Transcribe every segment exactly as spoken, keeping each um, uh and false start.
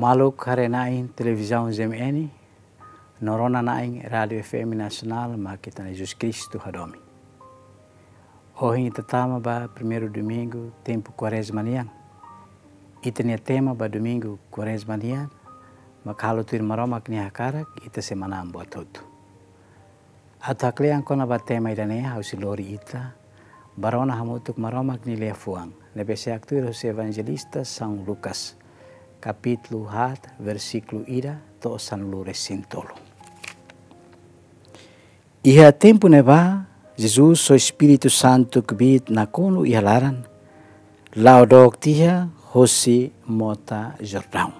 Maluk haree-na'in televizaun Z M N, no rona-na'in Rádiu F M Nasionál, mak ita-nia Jesus Kristu hadomi. Ohin ita tama ba primeiru domingu tempu Kuarezma nian. Ita-nia tema ba domingu Kuarezma nian, mak halo tuir Maromak nia hakarak, ita sei manán buat hotu. Atu haklean kona-ba tema ida-ne'e, ha'u sei lori ita ba rona hamutuk Maromak nia liafuan ne'ebé sei haktuir husi Evanjelista São Lucas, kapítulu haat, versíkulu ida to'o sanulu-resin-tolu. Iha tempu ne'ebá, Jesus ho Espíritu Santu kbiit nakonu iha laran, la'o dook tiha hosi mota Jordaun.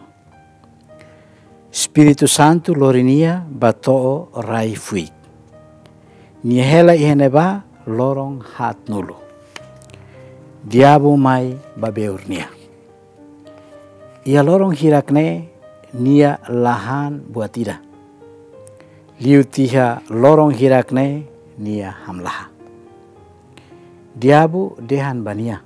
Espíritu Santu lori nia ba to'o rai fuik. Nia hela iha ne'ebá loron haatnulu. Diabu mai babeur nia. Iha loron hirak ne'e nia la han buat ida. Liu tiha loron hirak ne'e nia hamlaha. Diabu dehan ba nia: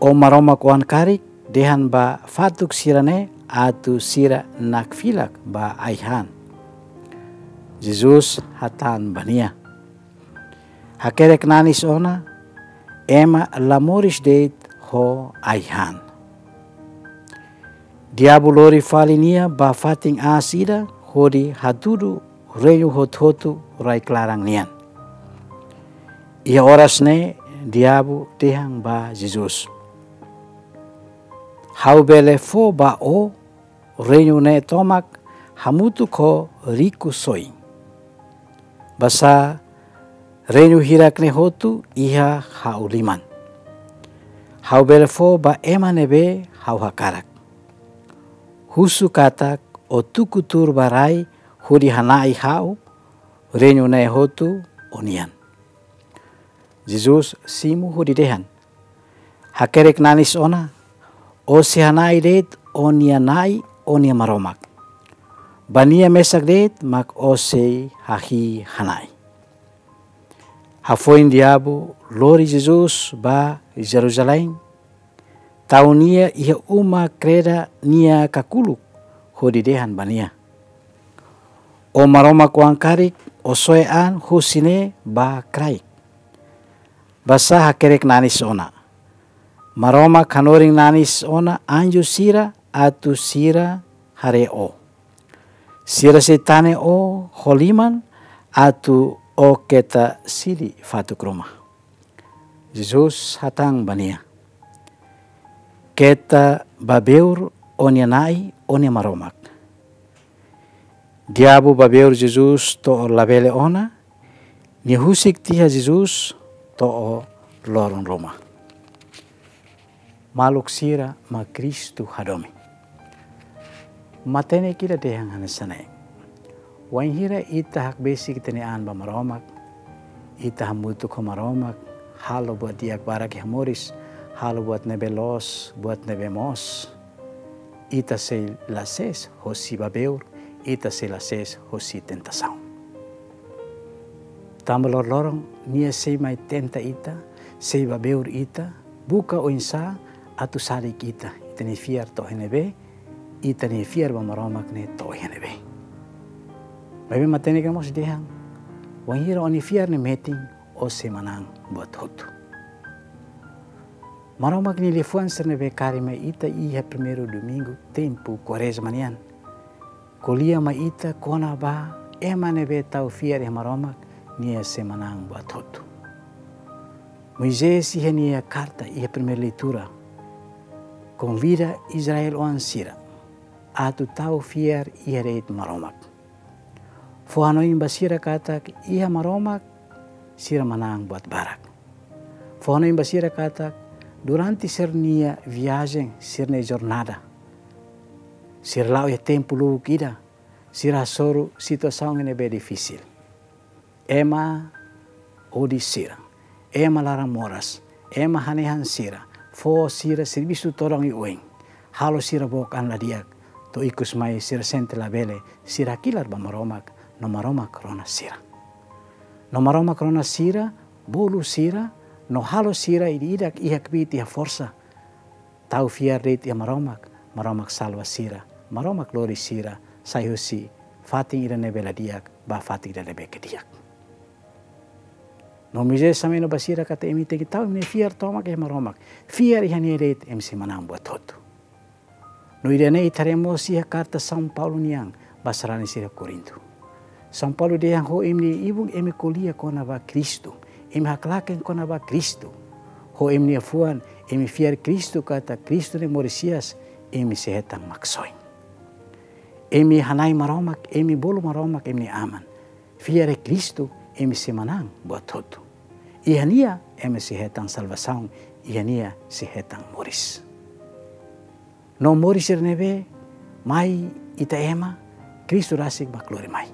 Ó Maromak oan karik, dehan ba fatuk sira-ne'e atu sira nakfilak ba ai-han. Jesus hatán ba nia: Hakerek nanis ona, ema la moris de'it ho ai-han. Diabu lori fali nia ba fatin aas ida hodi hatudu reinu hotu-hotu rai-klaran nian. Iha oras ne'e diabu dehan ba Jesus: Ha'u bele fó ba ó reinu ne'e tomak hamutuk ho riku-soin. Basá reinu hirak ne'e hotu iha ha'u liman. Ha'u bele fó ba ema ne'ebé ha'u hakarak. Husu katak ó tuku tuur ba rai hodi hana'i ha'u, reinu ne'e hotu ó-nian. Jesus simu hodi dehan: Hakerek nanis ona, ó sei hana'i de'it ó-nia Na'i, ó-nia Maromak. Ba nia mesak de'it mak ó sei hahi'i hana'i. Hafoin diabu lori Jesus ba Jerusalém, tau nia iha uma kreda nia kakuluk hodi dehan ba nia: Ó Maromak oan karik, ó soe an husi ne'e ba kraik. Basá hakerek nanis ona, Maromak hanorin nanis ona anju sira atu sira haree ó. Sira sei tane ó ho liman atu ó keta sili fatuk ruma. Jesus hatán ba nia: Keta babeur ó-nia Na'i, ó-nia Maromak. Diabu babeur Jesus to'o labele ona, nia husik tiha Jesus to'o loron ruma. Maluk sira mak Kristu hadomi. Matenek ida dehan hanesan ne'e: Wainhira ita hakbesik ita-nia an ba Maromak, ita hamutuk ho Maromak, halo buat di'ak barak iha moris, halo buat ne'ebé loos, buat ne'ebé moos, ita sei la sees hosi babeur, ita sei la sees hosi tentasaun. Tanba loroloron nia sei mai tenta ita, sei babeur ita, buka oinsá atu sadik ita, ita-nia fiar to'o iha ne'ebé, ita-nia fiar ba Maromak ne'e to'o iha ne'ebé. Maibé matenek ne'e mós dehan: Wainhira ó-nia fiar ne'e metin, ó sei manán buat hotu. Maromak nia liafuan sira ne'ebé kaer mai ita iha primeiru domingu tempu Kuarezma nian ko'alia mai ita kona-ba ema ne'ebé tau fiar iha Maromak, nia sei manán buat hotu. Moisés iha nia karta iha primeira leitura konvida Israel oan sira atu tau fiar iha de'it Maromak. Fó hanoin ba sira katak iha Maromak sira manán buat barak. Fó hanoin ba sira katak durante sira-nia viajen, sira-nia jornada, sira la'o iha tempu lubuk ida, sira hasoru situasaun ne'ebé difisil. Ema odi sira, ema laran-moras, ema hanehan sira, fó sira servisu todan oioin, halo sira book an la di'ak, to'o ikus mai sira sente labele, sira hakilar ba Maromak, no Maromak rona sira. No Maromak rona sira, bolu sira, no halo sira ida-idak iha kbiit iha forsa tau fiar de'it iha Maromak, Maromak salva sira, Maromak lori sira sai husi fatin ida ne'ebé la di'ak ba fatin ida ne'ebé ke di'ak. No Moisés hameno ba sira katak imi tenke tau imi-nia fiar tomak iha Maromak. Fiar iha Nia de'it imi sei manán buat hotu. No ida-ne'e ita haree mós iha karta São Paulo nian ba sarani sira Korintu. São Paulo dehan: Ho imi-nia ibun imi ko'alia kona-ba Kristu, imi haklaken kona-ba Kristu. Ho imi-nia fuan imi fiar Kristu katak Kristu ne'e moris hi'as, imi sei hetan Maksoin. Imi hana'i Maromak, imi bolu Maromak imi-nia Aman. Fiar iha Kristu imi sei manán buat hotu. Iha Nia imi sei hetan salvasaun, iha Nia sei hetan moris. No moris sira ne'ebé mai ita ema, Kristu rasik mak lori mai.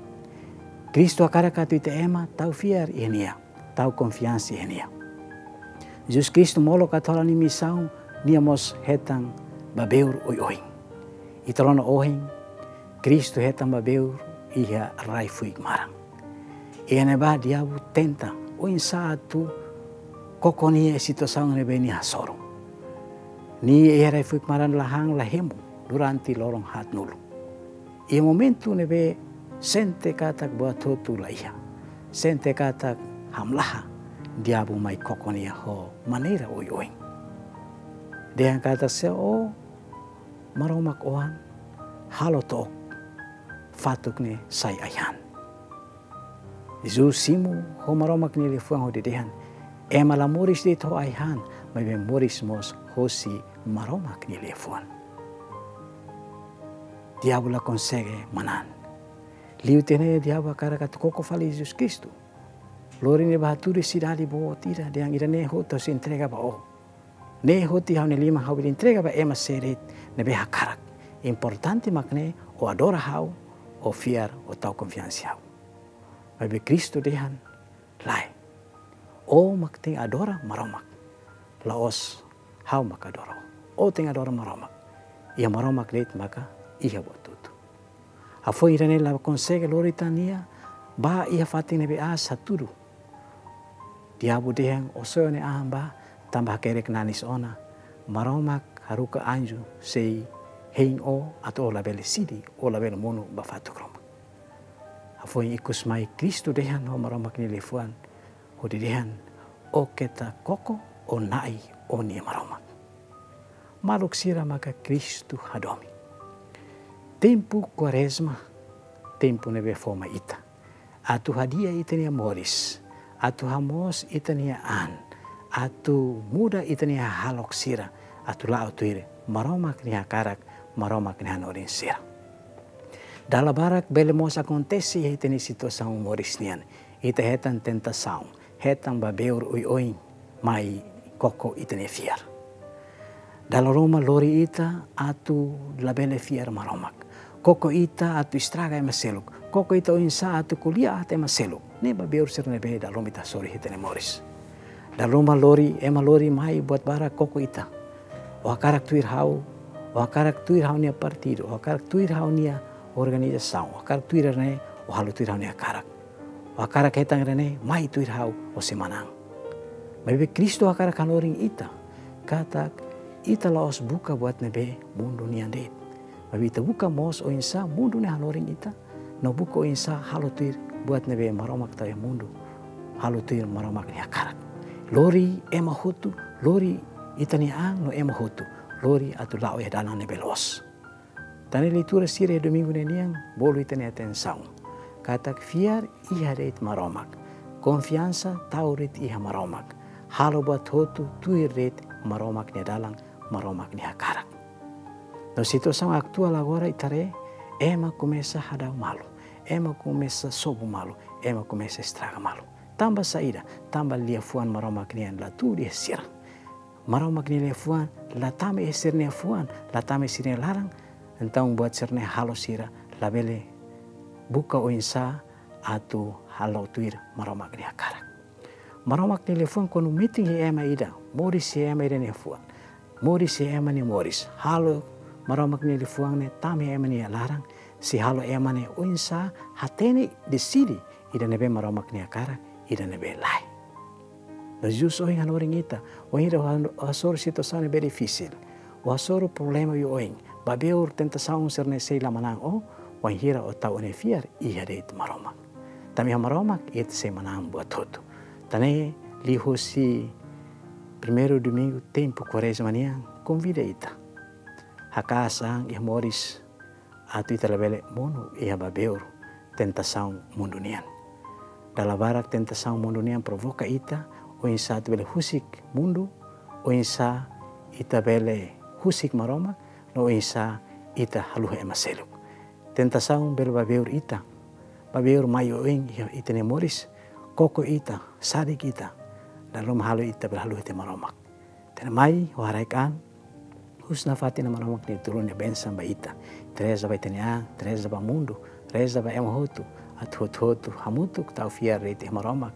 Kristu hakarak atu ita ema tau fiar iha Nia, tau konfiansa iha Nia. Jesus Kristu molok atu halo nia misaun, Nia mós hetan babeur oioin. Ita rona ohin, Kristu hetan babeur iha rai-fuik maran. Iha ne'ebá diabu tenta oinsá atu koko Nia iha situasaun ne'ebé Nia hasoru. Nia iha rai-fuik maran la han la hemu durante loron haatnulu. Iha momentu ne'ebé sente katak buat hotu la iha, sente katak hamlaha, diabu mai koko Nia ho maneira oioin. Dehan katak: Se ó Maromak oan, halo to'ok fatuk ne'e sai ai-han. Jesus simu ho Maromak nia liafuan hodi dehan: Ema la moris de'it ho ai-han, maibé moris mós hosi Maromak nia liafuan. Diabu la konsege manán. Liu tiha ne'e diabu hakarak atu koko fali Jesus Kristu. Lori nia bá hatudu iha sidade boot ida, dehan: Ida-ne'e hotu ha'u sei entrega ba ó. Ne'e hotu iha ha'u-nia liman, ha'u bele entrega ba ema sé de'it ne'ebé hakarak. Importante mak ne'e ó adora ha'u, ó fiar, ó tau konfiansa iha ha'u. Maibé Kristu dehan: Lae. Ó mak tenke adora Maromak. La'ós ha'u mak adora ó. Ó tenke adora Maromak. Iha Maromak de'it maka iha buat hotu. Hafoin ida-ne'e la konsege lori tan nia bá iha fatin ne'ebé aas hatudu. Diabu dehan: Ó soe ó-nia an bá, tanba hakerek nanis ona. Maromak haruka anju sei hein ó atu ó labele sidi, ó labele monu ba fatuk ruma. Hafoin ikus mai Kristu dehan ho Maromak nia liafuan, hodi dehan: Ó keta koko, ó na'i ó-nia Maromak. Maluk sira maka Kristu hadomi. Tempu Kuarezma, tempu ne'ebé fó mai ita atu hadi'a ita-nia moris, atu hamoos ita-nia an, atu muda ita-nia hahalok sira, atu la'o tuir Maromak nia hakarak, Maromak nia hanorin sira. Dala barak bele mós akontese iha ita-nia situasaun moris nian, ita hetan tentasaun, hetan babeur oioin mai koko ita-nia fiar. Dala ruma lori ita atu labele fiar Maromak. Koko ita atu estraga ema seluk. Koko ita oinsá atu ko'alia aat ema seluk. Ne'e babeur sira ne'ebé dala ruma ita hasoru iha ita-nia moris. Dala ruma lori, ema lori mai buat barak koko ita. Ó hakarak tuir ha'u, ó hakarak tuir ha'u-nia partidu, ó hakarak tuir ha'u-nia organizasaun, ó hakarak tuir ida-ne'e, ó halo tuir ha'u-nia hakarak. Ó hakarak hetan ida-ne'e, mai tuir ha'u, ó sei manán. Maibé Kristu hakarak hanorin ita katak ita la'ós buka buat ne'ebé mundu nian de'it. Maibé ita buka mós oinsá mundu ne'e hanorin ita, no buka oinsá halo tuir buat ne'ebé Maromak tau iha mundu, halo tuir Maromak nia hakarak. Lori ema hotu, lori ita-nia an no ema hotu, lori atu la'o iha dalan ne'ebé loos. Tan ne'e leitura sira iha domingu ne'e nian bolu ita-nia atensaun katak fiar iha de'it Maromak, konfiansa tau de'it iha Maromak, halo buat hotu tuir de'it Maromak nia dalan, Maromak nia hakarak. No situasaun atuál agora ita haree, ema komesa hadau malu, ema komesa sobu malu, ema komesa estraga malu. Tanba saida? Tanba liafuan Maromak nian la tuur iha sira. Maromak nia liafuan la tama iha sira-nia fuan, la tama iha sira-nia laran, entaun buat sira-ne'e halo sira labele buka oinsá atu halo tuir Maromak nia hakarak. Maromak nia liafuan kuandu metin iha ema ida, moris iha ema ida nia fuan, moris iha ema nia moris, halo Maromak nia liafuan ne'e tama iha ema nia laran, sei halo ema ne'e oinsá hatene, deside ida ne'ebé Maromak nia hakarak, ida ne'ebé lae. No Jesus ohin hanorin ita, wainhira ó hasoru situasaun ne'ebé difisil, ó hasoru problema oioin, Babeur tentasaun sira-ne'e sei la manán ó, wainhira ó tau ó-nia fiar iha de'it Maromak. Tanba iha Maromak ita sei manán buat hotu. Tan ne'e liuhusi primeiru domingu tempu Kuarezma nian, konvida ita. Hakaas an iha moris atu ita labele monu iha babeur tentasaun mundu nian. Dala barak tentasaun mundu nian provoka ita, oinsá ita bele husik mundu, oinsá ita bele husik Maromak, no oinsá ita haluha ema seluk. Tentasaun bele babeur ita, babeur mai oin iha ita-nia moris, koko ita, sadik ita, dala ruma halo ita bele haluha tiha Maromak. Tan ne'e mai, ha'u haraik an, husu nafatin Maromak nia tulun, nia bensaun ba ita. Ita reza ba ita-nia an, ita reza ba mundu, reza ba ema hotu, atu hotu-hotu hamutuk tau fiar de'it iha Maromak.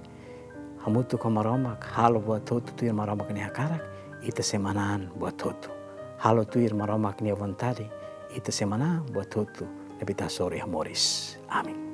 Hamutuk ho Maromak, halo buat hotu tuir Maromak nia hakarak, ita sei manán buat hotu. Halo tuir Maromak nia vontade, ita sei manán buat hotu ne'ebé ita hasoru iha moris. Amen.